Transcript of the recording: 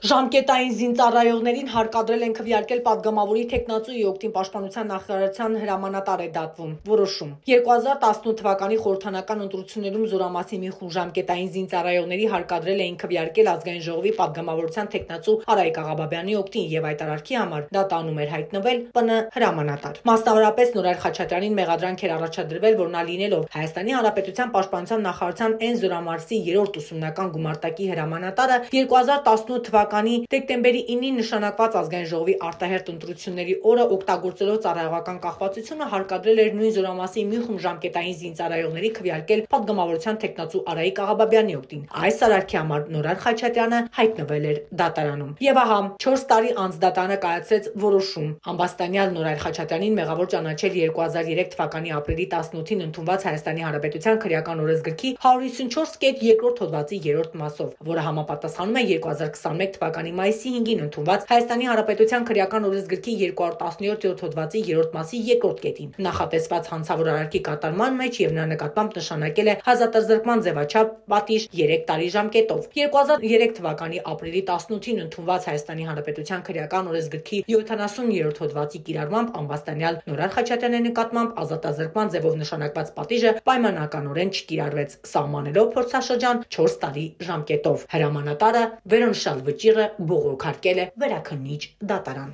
Ժամկետային զինծառայողներին հարկադրել են քվեարկել պատգամավորի թեկնածուի օգտին պաշտպանության նախարարության հրամանատար է դատվում։ Որոշում 2018 թվականի խորհրդանական ընտրություններում Զորամասի մի խումբ ժամկետային զինծառայողների հարկադրել էին քվեարկել ազգային ժողովի պատգամավորության թեկնածու Արայիկ Աղաբաբյանի օգտին եւ այդ արարքի համար դատանում էր հայտնվել ՊՆ հրամանատար։ Մասնավորապես Նորայր Խաչատրյանին մեղադրանք էր առաջադրվել, որ նա լինելով Հայաստանի Հանրապետության պաշտպանության նախարարության N Զորամասի 3-րդ ուսումնական գումարտակի հրամանատարը 2018 թվականի դեկտեմբերի 9-ին նշանակված ազգային ժողովի արտահերթ ընտրությունների օրը օգտագործելով ծառայողական կախվածությունը հարկադրել էր նույն Զորամասի մի խումբ ժամկետային զինծառայողների քվեարկել պատգամավորության թեկնածու Արայիկ Աղաբաբյանի օգտին։ Այս արարքի համար Նորայր Խաչատրյանը հայտնվել էր դատարանում։ Եվ ահա 4 տարի անց դատարանը կայացրեց որոշում ամբաստանյալ Նորայր Խաչատրյանին մեղավոր ճանաչել 2003 թվականի ապրիլի 18-ին ընդունված Հայաստանի Հանրապետության քրեական օրենսգրքի 154.2 հոդվածի 3-րդ մասով, որը համապատասխանում է 2021 թվականի մայիսի 5-ին ընդունված Հայաստանի Հանրապետության քրեական օրենսգրքի 217-րդ հոդվածի 3-րդ մասի 2-րդ կետին։ Նախատեսված հանցավոր արարքի կատարման մեջ եւ նրա նկատմամբ նշանակել է հազատազրկման ձևաչափ պատիժ 3 տարի ժամկետով։ 2003 թվականի ապրիլի 18-ին ընդունված Հայաստանի Հանրապետության քրեական օրենսգրքի 70-րդ հոդվածի կիրառմամբ ամբաստանյալ Նորայր Խաչատրյանի նկատմամբ ազատազրկման ձևով նշանակված պատիժը պայմանականորեն չկիրառվեց, սահմանելով փորձաշրջան 4 տարի ժամկետով։ Հրամանատարը վերոնշյալ վճիռը բողոքարկել է Վերաքննիչ դատարան։